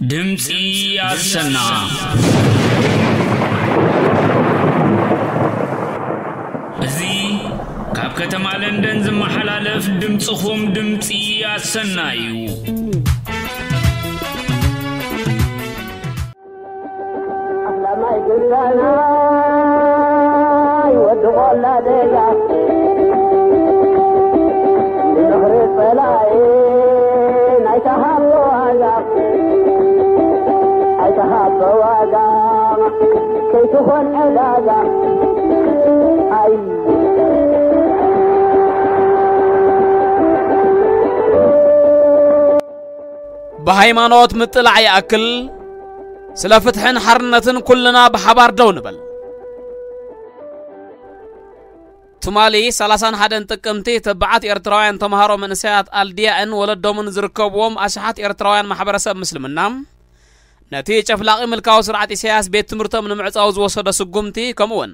ድምፂ ኣሰና። እዚ ካብ ከተማ ለንደን ዝመሓላለፍ ድምፅኹም ድምፂ ኣሰና እዩ። ኣስላማይ ግዳናይ ወዲ ቆላ ደጋ፣ ንዝኽሪ ጸላኢ ናይ ተሃቦ ዋጋ፣ ናይ ተሃቦ ዋጋ፣ ከይትኾን ዕዳጋ። ኣይ ብሃይማኖት ምጥላዕ ይኣክል፣ ስለ ፍትሕን ሓርነትን ኩልና ብሓባር ደው ንበል። ትማሊ ሰላሳን ሓደን ጥቅምቲ፣ ተባዓት ኤርትራውያን ተምሃሮ መንእሰያት ኣልድያእን ወለዶምን ዝርከብዎም ኣሽሓት ኤርትራውያን ማሕበረሰብ ምስልምና፣ ነቲ ጨፍላቒ ምልካዊ ስርዓት ኢሳያስ ቤት ትምህርቶም ንምዕጻው ዝወሰዶ ስጉምቲ፣ ከምኡውን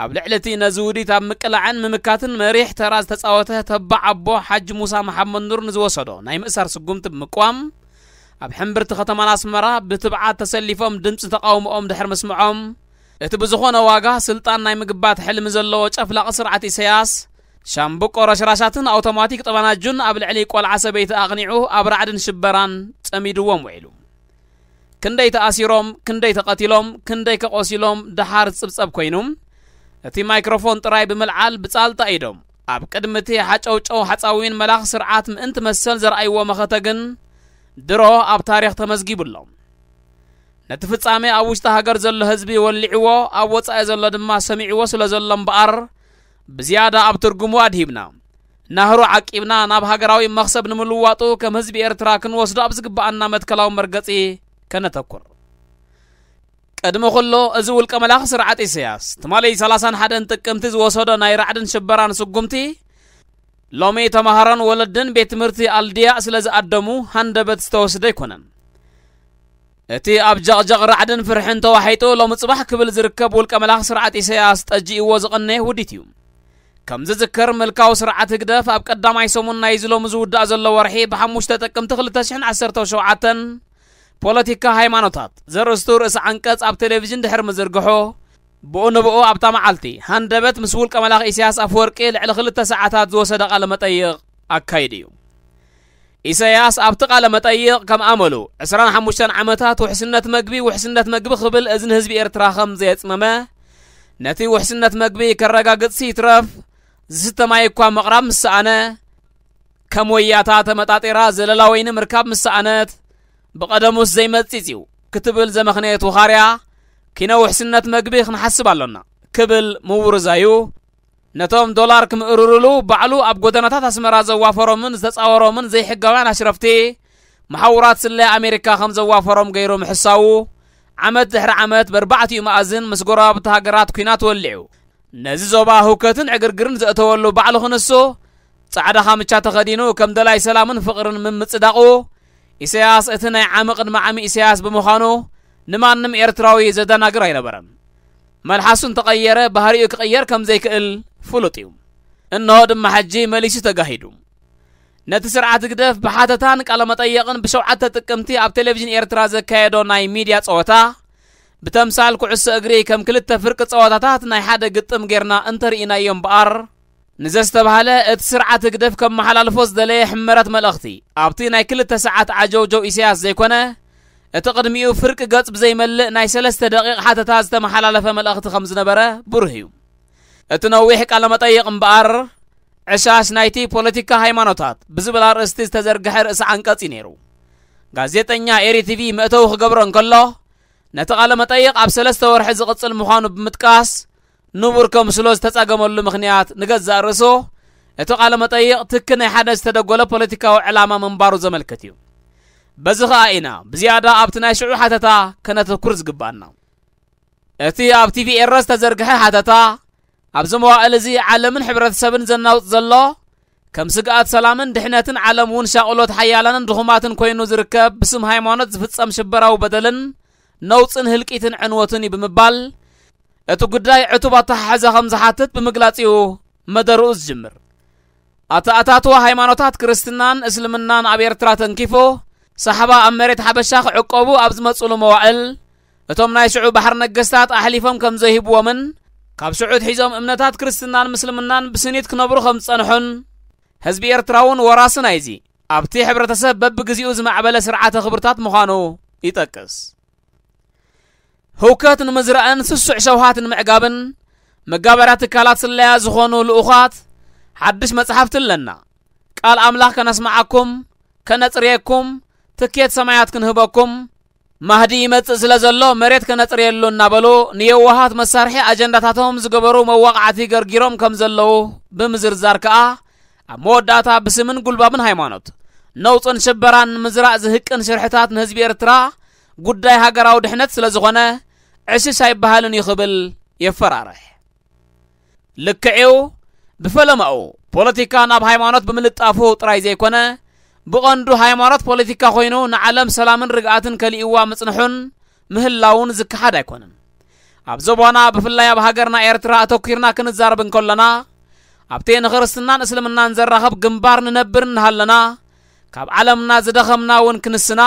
ኣብ ልዕሊ እቲ ነዚ ውዲት ኣብ ምቅላዕን ምምካትን መሪሕ ተራ ዝተጻወተ ተባዕ ኣቦ ሓጂ ሙሳ መሓመድ ኑር ንዝወሰዶ ናይ ምእሳር ስጉምቲ ብምቅዋም፣ ኣብ ሕምብርቲ ከተማና ኣስመራ ብትብዓት ተሰሊፎም ድምጺ ተቓውሞኦም ድሕሪ ምስምዖም፣ እቲ ብዝኾነ ዋጋ ስልጣን ናይ ምግባት ሕልሚ ዘለዎ ጨፍላቒ ስርዓት ኢሳያስ፣ ሻምብቆ ረሽራሻትን ኣውቶማቲክ ጠበናጁን ኣብ ልዕሊ ቆልዓ ሰበይቲ ኣቕኒዑ ኣብ ራዕድን ሽበራን ጸሚድዎም ውዒሉ። ክንደይ ተኣሲሮም፣ ክንደይ ተቐቲሎም፣ ክንደይ ከቆሲሎም ደሓር ዝጽብጸብ ኮይኑ፣ እቲ ማይክሮፎን ጥራይ ብምልዓል ብጻልጣ ኢዶም ኣብ ቅድሚ እቲ ሓጨውጨው ሓጻዊን መላኽ ስርዓት ምእንቲ መሰል ዘርኣይዎ መኸተ ግን ድሮ ኣብ ታሪኽ ተመዝጊቡ ኣሎ። ነቲ ፍጻሜ ኣብ ውሽጢ ሃገር ዘሎ ህዝቢ ወሊዕዎ፣ ኣብ ወጻኢ ዘሎ ድማ ሰሚዕዎ ስለ ዘሎ እምበኣር፣ ብዝያዳ ኣብ ትርጉሙ ኣድሂብና፣ ናህሩ ዓቂብና ናብ ሃገራዊ መኽሰብ ንምልዋጡ ከም ህዝቢ ኤርትራ ክንወስዶ ኣብ ዝግብኣና መትከላዊ መርገጺ ከነተኩር። ቅድሚ ኩሉ፣ እዚ ውልቀ መላኺ ስርዓት ኢሳያስ፣ ትማሊ ሰላሳን ሓደን ጥቅምቲ ዝወሰዶ ናይ ራዕድን ሽበራን ስጉምቲ፣ ሎሚ ተማሃሮን ወለድን ቤት ትምህርቲ ኣልድያእ ስለ ዝኣደሙ ሃንደበት ዝተወስደ ኣይኮነን። እቲ ኣብ ጀቕጀቕ ራዕድን ፍርሕን ተዋሒጡ ሎሚ ጽባሕ ክብል ዝርከብ ውልቀ መላኽ ስርዓት ኢሳያስ ጠጂእዎ ዝቐነየ ውዲት እዩ። ከም ዝዝከር፣ ምልካዊ ስርዓት ህግደፍ ኣብ ቀዳማይ ሰሙን ናይዚ ሎሚ ዝውዳእ ዘሎ ወርሒ ብሓሙሽተ ጥቅምቲ ክልተ ሽሕን ዓሰርተ ሸውዓተን ፖለቲካ ሃይማኖታት ዘርእስቱ ርእሲ ዓንቀጽ ኣብ ቴሌቪዥን ድሕሪ ምዝርግሑ፣ ብኡ ንብኡ ኣብታ መዓልቲ ሃንደበት ምስ ውልቀ መላኽ ኢሳያስ ኣፈወርቂ ልዕሊ ክልተ ሰዓታት ዝወሰደ ቃለ መጠይቕ ኣካይዱ እዩ። ኢሳያስ ኣብቲ ቃለ መጠይቕ ከም ኣመሉ ዕስራን ሓሙሽተን ዓመታት ውሕስነት መግቢ፣ ውሕስነት መግቢ ክብል እዝኒ ህዝቢ ኤርትራ ከም ዘየጽመመ፣ ነቲ ውሕስነት መግቢ ከረጋግጽ ይትረፍ ዝስተ ማይ እኳ ምቕራብ ምስ ሰኣነ፣ ከም ወያታ ተመጣጢራ ዘለላ ወይኒ ምርካብ ምስ ሰኣነት፣ ብቐደሙስ ዘይመጺጽ እዩ ክትብል ዘመኽነየት ውኻርያ፣ ኪነ ውሕስነት መግቢ ክንሓስብ ኣሎና ክብል ምውርዛዩ፣ ነቶም ዶላር ክምእርሩሉ ባዕሉ ኣብ ጎደናታት ኣስመራ ዘዋፈሮምን ዝተጻወሮምን ዘይሕጋውያን ኣሽረፍቲ፣ መሓውራት ስለያ ኣሜሪካ ከም ዘዋፈሮም ገይሩ ምሕሳዉ፣ ዓመት ድሕሪ ዓመት በርባዕቲኡ መኣዝን ምስ ጎረባብቲ ሃገራት ኲናት ወሊዑ፣ ነዚ ዞባ ህውከትን ዕግርግርን ዘእተወሉ ባዕሉ ክንሱ፣ ጻዕዳ ካምቻ ተኸዲኑ ከም ደላይ ሰላምን ፍቕርን ምምጽዳቑ፣ ኢሳያስ እቲ ናይ ዓሚ ቅድሚ ዓሚ ኢሳያስ ብምዃኑ፣ ንማንም ኤርትራዊ ዘደናግር ኣይነበረን። መልሓሱ እንተቐየረ፣ ባህሪኡ ክቕየር ከም ዘይክእል ፍሉጥ እዩ። እንሆ ድማ ሕጂ መሊሱ ተጋሂዱ። ነቲ ስርዓት ህግደፍ ብሓተታን ቃለ መጠየቕን ብሸውዓተ ጥቅምቲ ኣብ ቴሌቪዥን ኤርትራ ዘካየዶ ናይ ሚድያ ጸወታ፣ ብተምሳል ኩዕሶ እግሪ ከም ክልተ ፍርቂ ጸወታታት ናይ ሓደ ግጥም ጌርና እንተርኢናዮ እምበኣር፣ ንዘስተብሃለ እቲ ስርዓት ህግደፍ ከመሓላልፎ ዝደለየ ሕመረት መልእኽቲ፣ ኣብቲ ናይ ክልተ ሰዓት ዓጀውጀው ኢሳያስ ዘይኮነ፣ እቲ ቅድሚኡ ፍርቂ ገጽ ብዘይመልእ ናይ ሰለስተ ደቂቕ ሓተታ ዝተመሓላለፈ መልእኽቲ ከም ዝነበረ ብሩህ እዩ። እቲ ነዊሕ ቃለ መጠይቕ እምበኣር፣ ዕሻሽ ናይቲ ፖለቲካ ሃይማኖታት ብዝብል ኣርእስቲ ዝተዘርግሐ ርእሲ ዓንቀጽ እዩ ነይሩ። ጋዜጠኛ ኤሪ ቲቪ መእተዊ ክገብሮ እንከሎ፣ ነቲ ቃለ መጠይቕ ኣብ ሰለስተ ወርሒ ዝቕጽል ምዃኑ ብምጥቃስ፣ ንቡር ከምስሎ ዝተጸገመሉ ምኽንያት ንገዛእ ርእሱ፣ እቲ ቃለ መጠይቕ ትኪ ናይ ሓደ ዝተደጎለ ፖለቲካዊ ዕላማ ምንባሩ ዘመልክት እዩ። በዚ ኸኣ ኢና ብዝያዳ ኣብቲ ናይ ሽዑ ሓተታ ከነተኩር ዝግባኣና። እቲ ኣብ ቲቪ ኤረ ዝተዘርግሐ ሓተታ፣ ኣብዚ መዋእል እዚ ዓለምን ሕብረተሰብን ዘናውጽ ዘሎ፣ ከም ስግኣት ሰላምን ድሕነትን ዓለም እውን ሻቕሎት ሓያላንን ድኹማትን ኮይኑ ዝርከብ ብስም ሃይማኖት ዝፍጸም ሽበራዊ በደልን ነውጽን ህልቂትን ዕንወትን እዩ ብምባል፣ እቲ ጉዳይ ዕቱብ ኣተሓሕዛ ከም ዝሓትት ብምግላጽ እዩ መደርኡ ዝጅምር። ኣተኣታትዋ ሃይማኖታት ክርስትናን እስልምናን ኣብ ኤርትራ ተንኪፉ፣ ሳሕባ ኣብ መሬት ሓበሻ ክዕቀቡ ኣብ ዝመጽሉ መዋእል፣ እቶም ናይ ሽዑ ባሕር ነገስታት ኣሕሊፎም ከም ዘይህብዎምን፣ ካብ ሽዑ ኣትሒዞም እምነታት ክርስትናን ምስልምናን ብስኒት ክነብሩ ከም ዝጸንሑን፣ ህዝቢ ኤርትራ እውን ወራሲ ናይዚ ኣብቲ ሕብረተሰብ በብግዜኡ ዝማዕበለ ስርዓተ ክብርታት ምዃኑ ይጠቅስ። ህውከት ንምዝራእን ስሱዕ ሸውሃት ንምዕጋብን መጋበርያ ትካላት ስለያ ዝኾኑ ልኡኻት ሓድሽ መጽሓፍቲ ኣለና። ቃል ኣምላኽ ከነስምዓኩም፣ ከነጽርየኩም፣ ትኬት ሰማያት ክንህበኩም፣ ማህዲ ይመጽእ ስለ ዘሎ መሬት ከነጽርየሉ እናበሉ ንየዋሃት መሳርሒ ኣጀንዳታቶም ዝገበሩ መዋቕዓቲ ገርጊሮም ከም ዘለዉ ብምዝርዛር ከኣ፣ ኣብ መወዳእታ ብስምን ጉልባብን ሃይማኖት፣ ነውጽን ሽበራን ንምዝራእ ዝህቅን ሽርሕታት ንህዝቢ ኤርትራ ጉዳይ ሃገራዊ ድሕነት ስለ ዝኾነ፣ ዕሽሽ ኣይበሃልን እዩ ክብል የፈራርሕ። ልክዕ'ዩ፣ ብፈለማኡ ፖለቲካ ናብ ሃይማኖት ብምልጣፉ ጥራይ ዘይኮነ፣ ብቐንዱ ሃይማኖት ፖለቲካ ኮይኑ ንዓለም ሰላምን ርግኣትን ከሊእዋ ምጽንሑን ምህላውን ዝከሓድ ኣይኮነን። ኣብ ዞባና፣ ብፍላይ ኣብ ሃገርና ኤርትራ ኣተኲርና ክንዛረብ እንከሎና፣ ኣብቲ ንኽርስትናን እስልምናን ዘራኽብ ግንባር ንነብር እናሃለና፣ ካብ ዓለምና ዝደኸምና እውን ክንስና፣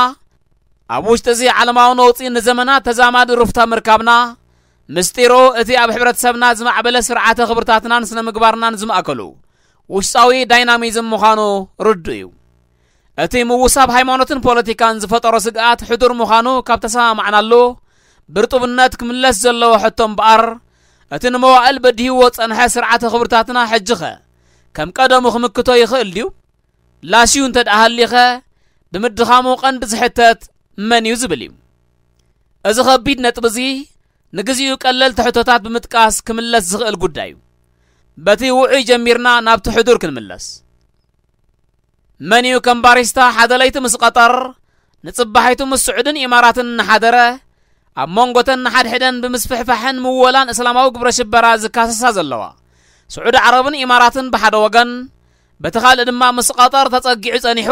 ኣብ ውሽጢ እዚ ዓለማዊ ነውጺ ንዘመናት ተዛማዲ ሩፍታ ምርካብና፣ ምስጢሩ እቲ ኣብ ሕብረተሰብና ዝማዕበለ ስርዓተ ክብርታትናን ስነ ምግባርናን ዝማእከሉ ውሽጣዊ ዳይናሚዝም ምዃኑ ርዱእ እዩ። እቲ ምውሳብ ሃይማኖትን ፖለቲካን ዝፈጠሮ ስግኣት ሕዱር ምዃኑ ካብ ተሰማማዕናሉ፣ ብርጡብነት ክምለስ ዘለዎ ሕቶ እምበኣር፣ እቲ ንመዋእል በዲህዎ ጸንሐ ስርዓተ ክብርታትና ሕጂኸ ከም ቀደሙ ክምክቶ ይኽእል ድዩ? ላሽዩ እንተ ደኣ ሃሊኸ፣ ብምድኻሙ ቀንዲ ዝሕተት መን እዩ ዝብል እዩ። እዚ ኸቢድ ነጥቢ እዚ ንግዚኡ ቀለልቲ ሕቶታት ብምጥቃስ ክምለስ ዝኽእል ጉዳይ እዩ። በቲ ውዑይ ጀሚርና ናብቲ ሕዱር ክንምለስ። መን እዩ ከም ባሪስታ ሓደ ለይቲ ምስ ቀጠር፣ ንጽባሒቱ ምስ ስዑድን ኢማራትን እናሓደረ፣ ኣብ መንጎተን ንሓድሕደን ብምስፍሕፋሕን ምወላን እስላማዊ ግብረ ሽበራ ዝካሰሳ ዘለዋ ስዑዲ ዓረብን ኢማራትን ብሓደ ወገን፣ በቲ ካልእ ድማ ምስ ቀጠር ተጸጊዑ ጸኒሑ፣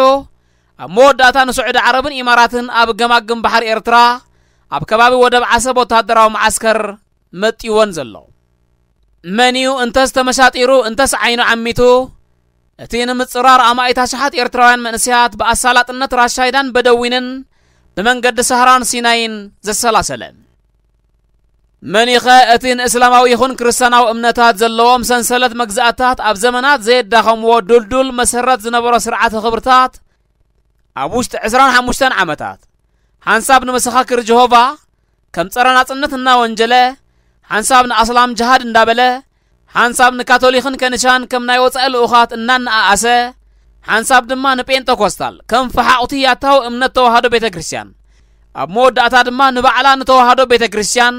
ኣብ መወዳእታ ንስዑዲ ዓረብን ኢማራትን ኣብ ገማግም ባሕሪ ኤርትራ፣ ኣብ ከባቢ ወደብ ዓሰብ ወተሃደራዊ መዓስከር መጢወን ዘሎ። መን እዩ እንተስ ተመሻጢሩ እንተስ ዓይኑ ዓሚቱ፣ እቲ ንምጽራር ኣማኢት ኣሽሓት ኤርትራውያን መንእሰያት ብኣሳላጥነት ራሻይዳን በደዊንን ብመንገዲ ሰህራን ሲናይን ዘሰላሰለ? መን ኢኸ እቲ ንእስላማዊ ይኹን ክርስትያናዊ እምነታት ዘለዎም ሰንሰለት መግዛእታት ኣብ ዘመናት ዘየዳኸምዎ ዱልዱል መሰረት ዝነበሮ ስርዓተ ክብርታት ኣብ ውሽጢ ዕስራን ሓሙሽተን ዓመታት ሓንሳብ ንመሰኻክር ጀሆቫ ከም ጸረ ናጽነት እናወንጀለ፣ ሓንሳብ ንኣስላም ጅሃድ እንዳበለ፣ ሓንሳብ ንካቶሊኽን ከንሻን ከም ናይ ወጻኢ ልኡኻት እናነኣኣሰ፣ ሓንሳብ ድማ ንጴንጠኮስታል ከም ፈሓቑቲ ያታዊ እምነት ተዋህዶ ቤተ ክርስቲያን፣ ኣብ መወዳእታ ድማ ንባዕላ ንተዋህዶ ቤተ ክርስቲያን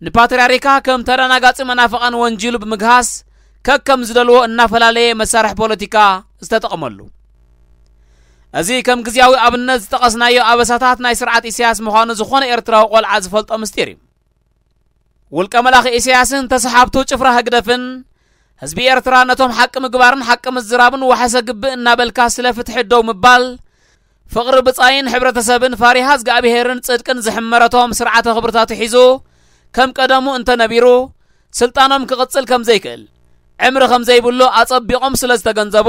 ንፓትርያርካ ከም ተደናጋጺ መናፍቓን ወንጂሉ ብምግሃስ፣ ከከም ዝደልዎ እናፈላለየ መሳርሒ ፖለቲካ ዝተጠቕመሉ። እዚ ከም ግዝያዊ ኣብነት ዝጠቐስናዮ ኣበሳታት ናይ ስርዓት ኢሳያስ ምዃኑ ዝኾነ ኤርትራዊ ቆልዓ ዝፈልጦ ምስጢር እዩ። ውልቀ መላኺ ኢሳያስን ተሰሓብቱ ጭፍራ ህግደፍን፣ ህዝቢ ኤርትራ ነቶም ሓቂ ምግባርን ሓቂ ምዝራብን ዋሕሰ ግብእ እናበልካ ስለ ፍትሒ ደው ምባል፣ ፍቕሪ ብጻይን ሕብረተሰብን ፋሪሃ እግዚኣብሄርን ጽድቅን ዝሕመረቶም ስርዓተ ክብርታቱ ሒዙ ከም ቀደሙ እንተነቢሩ፣ ስልጣኖም ክቕጽል ከም ዘይክእል፣ ዕምሪ ከም ዘይብሉ ኣጸቢቖም ስለ ዝተገንዘቡ፣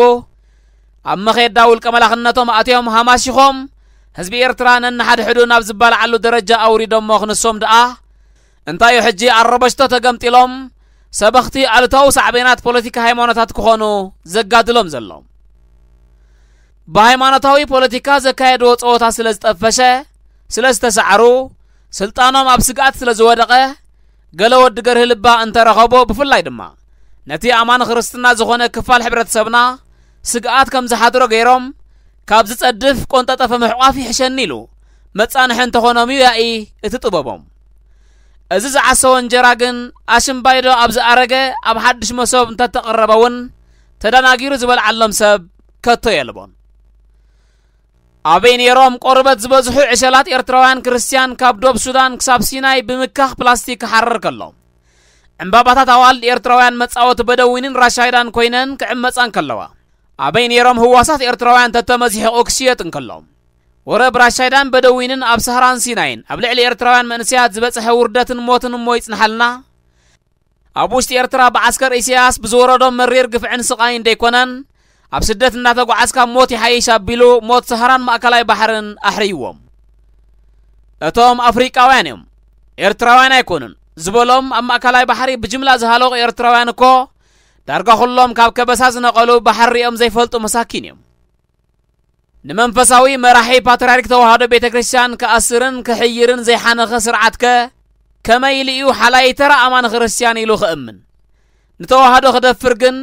ኣብ መኼዳ ውልቀ መላኽነቶም ኣትዮም ሃማሺኾም ህዝቢ ኤርትራ ነንሓድሕዱ ናብ ዝበላዓሉ ደረጃ ኣውሪዶሞ ክንሶም ደኣ፣ እንታዩ ሕጂ ኣረበሽቶ ተገምጢሎም ሰበኽቲ ኣሉታዊ ሳዕቤናት ፖለቲካ ሃይማኖታት ክኾኑ ዘጋድሎም ዘሎ? ብሃይማኖታዊ ፖለቲካ ዘካየድዎ ጸወታ ስለ ዝጠፈሸ፣ ስለ ዝተሳዕሩ፣ ስልጣኖም ኣብ ስግኣት ስለ ዝወደቐ፣ ገለ ወዲ ገርሂ ልባ እንተረኸቦ፣ ብፍላይ ድማ ነቲ ኣማኒ ክርስትና ዝኾነ ክፋል ሕብረተሰብና ስግኣት ከም ዝሓድሮ ገይሮም፣ ካብ ዝጸድፍ ቆንጠጠፈ ምሕቋፍ ይሕሸኒ ኢሉ መጻንሒ እንተኾኖም እዩ ያኢ እቲ ጥበቦም። እዚ ዝዓሰወ እንጀራ ግን ኣሽምባይዶ ኣብ ዝኣረገ ኣብ ሓድሽ መሶብ እንተተቐረበ እውን ተደናጊሩ ዝበልዓሎም ሰብ ከቶ የልቦን። ኣበይ ነይሮም ቆርበት ዝበዝሑ ዕሸላት ኤርትራውያን ክርስትያን ካብ ዶብ ሱዳን ክሳብ ሲናይ ብምካኽ ፕላስቲክ ክሓርር ከሎ፣ ዕምባባታት ኣዋልድ ኤርትራውያን መጻወቲ በደዊንን ራሻይዳን ኮይነን ክዕመጻ እንከለዋ፣ ኣበይ ነይሮም ህዋሳት ኤርትራውያን ተተመዚሕቑ ክሽየጥ እንከሎ፣ ወረ ብራሻይዳን በደዊንን ኣብ ሰህራን ሲናይን ኣብ ልዕሊ ኤርትራውያን መንእሰያት ዝበጽሐ ውርደትን ሞትን እሞ ይጽንሓልና። ኣብ ውሽጢ ኤርትራ ብዓስከር ኢሳያስ ብዝወረዶም መሪር ግፍዕን ስቓይን ደይኮነን፣ ኣብ ስደት እናተጓዓዝካ ሞት ይሓይሽ ኣቢሉ ሞት ሰሃራን ማእከላይ ባሕርን ኣሕርይዎም። እቶም ኣፍሪቃውያን እዮም፣ ኤርትራውያን ኣይኮኑን ዝበሎም ኣብ ማእከላይ ባሕሪ ብጅምላ ዝሃለቑ ኤርትራውያን እኮ ዳርጋ ኩሎም ካብ ከበሳ ዝነቐሉ ባሕሪ ሪኦም ዘይፈልጡ መሳኪን እዮም። ንመንፈሳዊ መራሒ ፓትርያርክ ተዋህዶ ቤተ ክርስቲያን ክኣስርን ክሕይርን ዘይሓነኸ ስርዓትከ ከመይ ኢሉ እዩ ሓላይ ተራ ኣማኒ ክርስቲያን ኢሉ ክእምን? ንተዋህዶ ክደፍር ግን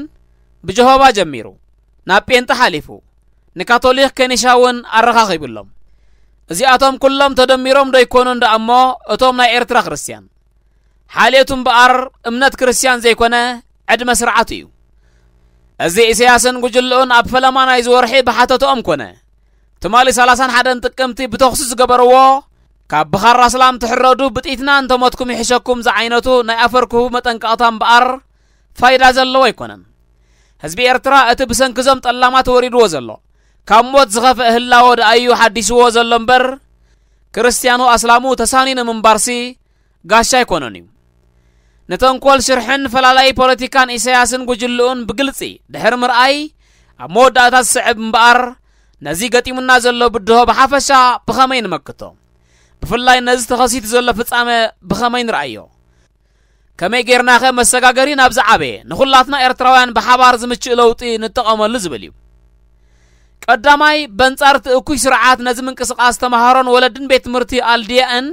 ብጀሆባ ጀሚሩ ናብ ጴንጠ ሓሊፉ ንካቶሊክ ከኒሻ እውን ኣረኻኺብሎም። እዚኣቶም ኩሎም ተደሚሮም ዶ ይኮኑ እንዳ እሞ እቶም ናይ ኤርትራ ክርስቲያን? ሓልዮቱ እምበኣር እምነት ክርስቲያን ዘይኮነ ዕድመ ስርዓቱ እዩ። እዚ ኢሳያስን ጉጅልኡን ኣብ ፈለማ ናይዚ ወርሒ ብሓተትኦም ኮነ ትማሊ ሰላሳን ሓደን ጥቅምቲ ብተኹሲ ዝገበርዎ ካብ ብኻራ ስላም ትሕረዱ ብጥይትና እንተሞትኩም ይሕሸኩም ዝዓይነቱ ናይ ኣፈርክሁ መጠንቀቕታ እምበኣር ፋይዳ ዘለዎ ኣይኮነን። ህዝቢ ኤርትራ እቲ ብሰንኪዞም ጠላማት ወሪድዎ ዘሎ ካብ ሞት ዝኸፍአ ህላወ ደኣዩ ሓዲስዎ ዘሎ እምበር ክርስትያኑ ኣስላሙ ተሳኒኑ ምንባርሲ ጋሻ ኣይኮነን እዩ። ንተንኮል ሽርሕን ፈላላይ ፖለቲካን ኢሳያስን ጉጅልኡን ብግልጺ ድሕሪ ምርኣይ ኣብ መወዳእታ ዝስዕብ እምበኣር ነዚ ገጢሙና ዘሎ ብድሆ ብሓፈሻ ብኸመይ ንመክቶ? ብፍላይ ነዚ ተኸሲቱ ዘሎ ፍጻመ ብኸመይ ንርኣዮ? ከመይ ጌርናኸ መሰጋገሪ ናብ ዝዓበየ ንኹላትና ኤርትራውያን ብሓባር ዝምችእ ለውጢ ንጠቐመሉ ዝብል እዩ። ቀዳማይ በንጻር እቲ እኩይ ስርዓት ነዚ ምንቅስቓስ ተምሃሮን ወለድን ቤት ትምህርቲ ኣልድያእን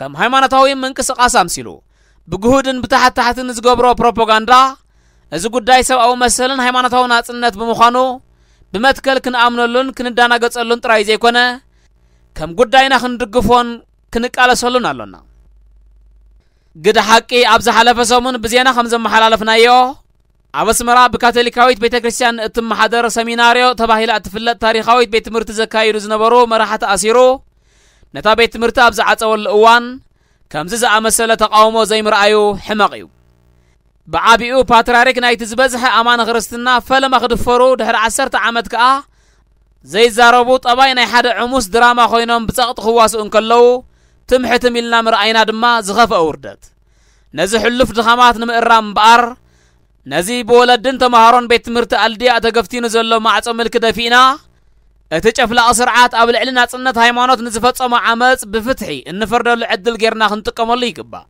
ከም ሃይማኖታዊ ምንቅስቓስ ኣምሲሉ ብግሁድን ብታሕታሕትን ዝገብሮ ፕሮፓጋንዳ እዚ ጉዳይ ሰብኣዊ መሰልን ሃይማኖታዊ ናጽነት ብምዃኑ ብመትከል ክንኣምነሉን ክንዳናገጸሉን ጥራይ ዘይኮነ ከም ጉዳይና ክንድግፎን ክንቃለሰሉን ኣሎና። ግደ ሓቂ ኣብ ዝሓለፈ ሰሙን ብዜና ከም ዘመሓላለፍናዮ ኣብ ኣስመራ ብካቶሊካዊት ቤተ ክርስቲያን እትመሓደር ሰሚናርዮ ተባሂላ እትፍለጥ ታሪኻዊት ቤት ትምህርቲ ዘካይዱ ዝነበሩ መራሕቲ ኣሲሩ ነታ ቤት ትምህርቲ ኣብ ዝዓጸወሉ እዋን ከምዚ ዝኣመሰለ ተቃውሞ ዘይምርኣዩ ሕመቕ እዩ። ብዓቢኡ ፓትርያርክ ናይቲ ዝበዝሐ ኣማኒ ክርስትና ፈለማ ክድፈሩ ድሕሪ ዓሰርተ ዓመት ከኣ ዘይዛረቡ ጠባይ ናይ ሓደ ዕሙስ ድራማ ኮይኖም ብጸቕጢ ክዋስኡ እንከለዉ ትምሕትም ኢልና ምርኣይና ድማ ዝኸፍአ ውርደት። ነዚ ሕሉፍ ድኻማት ንምእራም እምበኣር ነዚ ብወለድን ተምሃሮን ቤት ትምህርቲ ኣልድያ ተገፍቲኑ ዘሎ ማዕጾ ምልኪ ደፊእና እቲ ጨፍላቒ ስርዓት ኣብ ልዕሊ ናጽነት ሃይማኖት ንዝፈጸሞ ዓመጽ ብፍትሒ እንፈርደሉ ዕድል ጌርና ክንጥቀመሉ ይግባእ።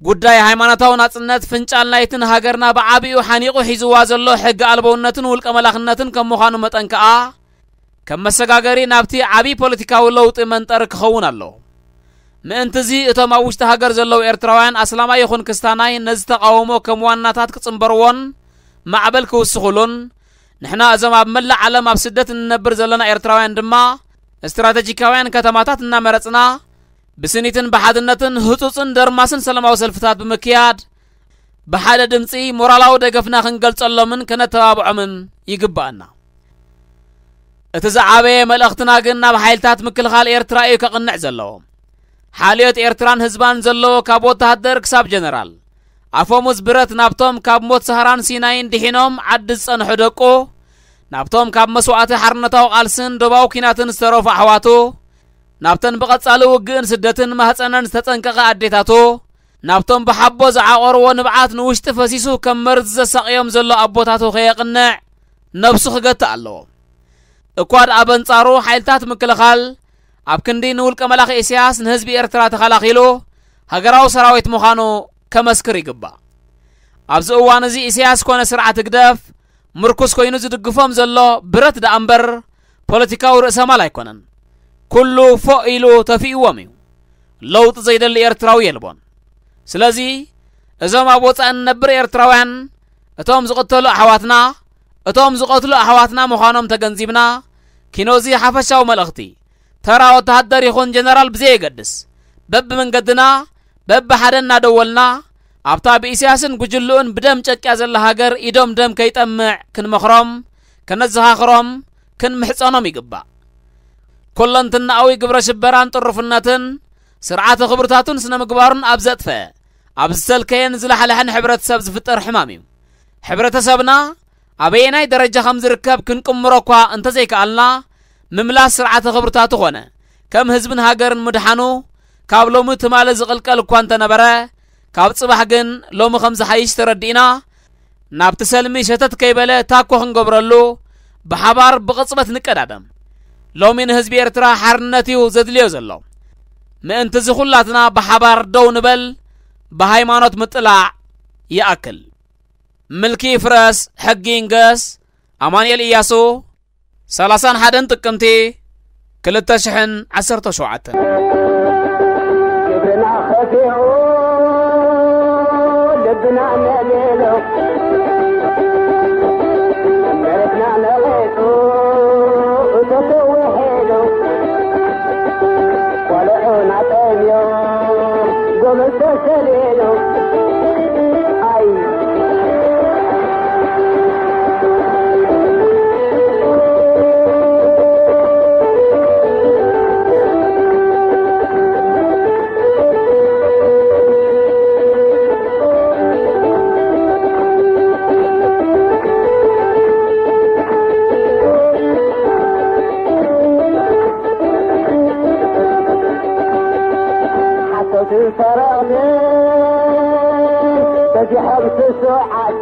ጉዳይ ሃይማኖታዊ ናጽነት ፍንጫል ናይትን ሃገርና ብዓቢኡ ሓኒቑ ሒዝዋ ዘሎ ሕጊ ኣልበውነትን ውልቀ መላኽነትን ከም ምዃኑ መጠን ከኣ ከም መሰጋገሪ ናብቲ ዓቢ ፖለቲካዊ ለውጢ መንጠሪ ክኸውን ኣለዎ። ምእንትዚ እቶም ኣብ ውሽጢ ሃገር ዘለዉ ኤርትራውያን ኣስላማይ ይኹን ክስታናይ ነዚ ተቓውሞ ከም ዋናታት ክጽንበርዎን ማዕበል ክውስኹሉን ንሕና እዞም ኣብ መላእ ዓለም ኣብ ስደት እንነብር ዘለና ኤርትራውያን ድማ ስትራተጂካውያን ከተማታት እናመረጽና ብስኒትን ብሓድነትን ህጹጽን ደርማስን ሰላማዊ ሰልፍታት ብምክያድ ብሓደ ድምጺ ሞራላዊ ደገፍና ክንገልጸሎምን ከነተባብዖምን ይግብኣና። እቲ ዝዓበየ መልእኽትና ግን ናብ ሓይልታት ምክልኻል ኤርትራ እዩ ከቕንዕ ዘለዎ። ሓልዮት ኤርትራን ህዝባን ዘለዎ ካብ ወተሃደር ክሳብ ጀነራል ኣፈሙዝ ብረት ናብቶም ካብ ሞት ሰሃራን ሲናይን ድሒኖም ዓዲ ዝጸንሑ ደቁ ናብቶም ካብ መስዋእቲ ሓርነታዊ ቃልስን ዶባዊ ኲናትን ዝተረፉ ኣሕዋቱ ናብተን ብቐጻሊ ውግእን ስደትን ማህጸነን ዝተጸንቀቐ ኣዴታቱ ናብቶም ብሓቦ ዝዓቖርዎ ንብዓት ንውሽጢ ፈሲሱ ከም መርዚ ዘሳቕዮም ዘሎ ኣቦታቱ ከየቕንዕ ነብሱ ክገትእ ኣለዎ። እኳ ደኣ በንጻሩ ሓይልታት ምክልኻል ኣብ ክንዲ ንውልቀ መላኺ ኢሳያስ ንህዝቢ ኤርትራ ተኸላኺሉ ሃገራዊ ሰራዊት ምዃኑ ከመስክር ይግባእ። ኣብዚ እዋን እዚ ኢሳያስ ኮነ ስርዓት ህግደፍ ምርኩስ ኮይኑ ዝድግፎም ዘሎ ብረት ደኣ እምበር ፖለቲካዊ ርእሰማል ኣይኮነን። ኩሉ ፎእ ኢሉ ተፊእዎም እዩ። ለውጢ ዘይደሊ ኤርትራዊ የልቦን። ስለዚ እዞም ኣብ ወጻኢ እንነብር ኤርትራውያን እቶም ዝቕተሉ ኣሕዋትና እቶም ዝቐትሉ ኣሕዋትና ምዃኖም ተገንዚብና ኪኖዚ ሓፈሻዊ መልእኽቲ ተራ ወተሃደር ይኹን ጀነራል ብዘየገድስ በብመንገድና በብሓደ እናደወልና ኣብታ ብኢሳያስን ጉጅልኡን ብደም ጨቅያ ዘላ ሃገር ኢዶም ደም ከይጠምዕ ክንመኽሮም ከነዘኻኽሮም ክንምሕጸኖም ይግባእ። ኮለንትናኣዊ ግብረ ሽበራን ጥሩፍነትን ስርዓተ ክብርታቱን ስነ ምግባሩን ኣብ ዘጥፈ ኣብ ዝሰልከየን ዝላሕላሕን ሕብረተሰብ ዝፍጠር ሕማም እዩ። ሕብረተሰብና ኣበየናይ ደረጃ ከም ዝርከብ ክንቅምሮ እኳ እንተዘይከኣልና ምምላስ ስርዓተ ክብርታቱ ኾነ ከም ህዝብን ሃገርን ምድሓኑ ካብ ሎሚ ትማሊ ዝቕልቀል እኳ እንተነበረ ካብ ጽባሕ ግን ሎሚ ከም ዝሓይሽ ተረዲእና ናብቲ ሰልሚ ሸተት ከይበለ ታኮ ክንገብረሉ ብሓባር ብቕጽበት ንቀዳደም። ሎሚ ንህዝቢ ኤርትራ ሓርነት እዩ ዘድልዮ ዘሎ። ምእንቲ እዚ ኩላትና ብሓባር ደው ንበል፣ ብሃይማኖት ምጥላዕ ይኣክል። ምልኪ ይፍረስ፣ ሕጊ ይንገስ። ኣማኑኤል ኢያሱ፣ ሰላሳን ሓደን ጥቅምቲ ክልተ ሽሕን ዓሰርተ ሸውዓተን። ግብርና ከፊኡ ልብና ነቤሎ፣ መሬትና ነቒጹ እቶቱ ውሒዱ፣ ቆልዑና ጠምዮ ጎበዝ ተሰሊሉ። ኣይ ሓሰውትን ሰረቕትን በዚሖም ስሱዓት፣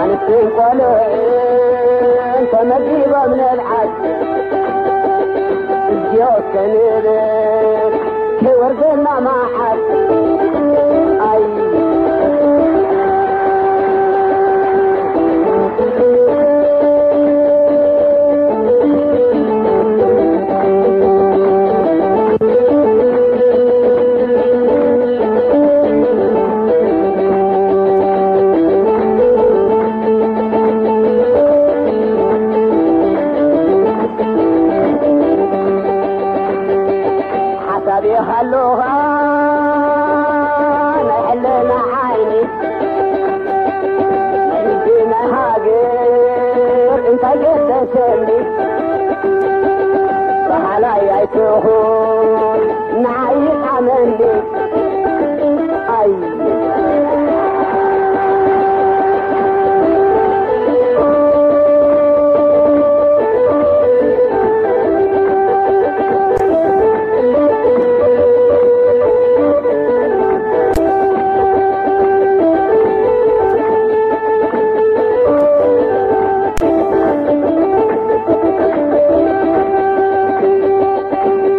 ኣንስትን ቆልዑን ተመዲቦም ንብዓት። እዚኦ እስከ ንብል ከይወርደና መዓት። ኣይ ሓሳብ ይሃሉኻ ናይ ሕልና ዓይኒ፣ ናይ ህዝቢ ናይ ሃገር እንታይ ገደሰኒ? በሃላይ ኣይትኹን ንዓይ ይጥዓመኒ። ኣይ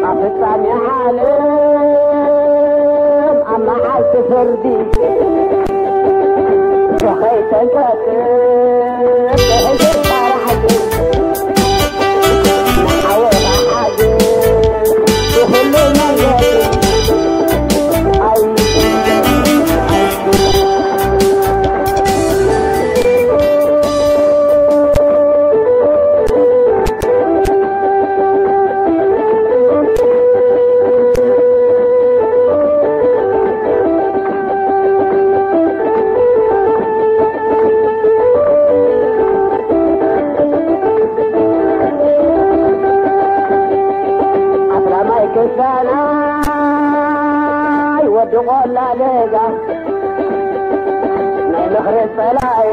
ኣብ ፍጻሜ ዓለም ኣብ መዓልቲ ፍርዲ ከይተንቀጥቅጥ ብሕጊ ፈራሕቲ ንሓወኻ ሓግዝ ብኹሉ መንገዲ። ኣይ ኣስላማይ ክስታናይ ወዲ ቆላ ደጋ ናይ ምኽሪ ጸላኢ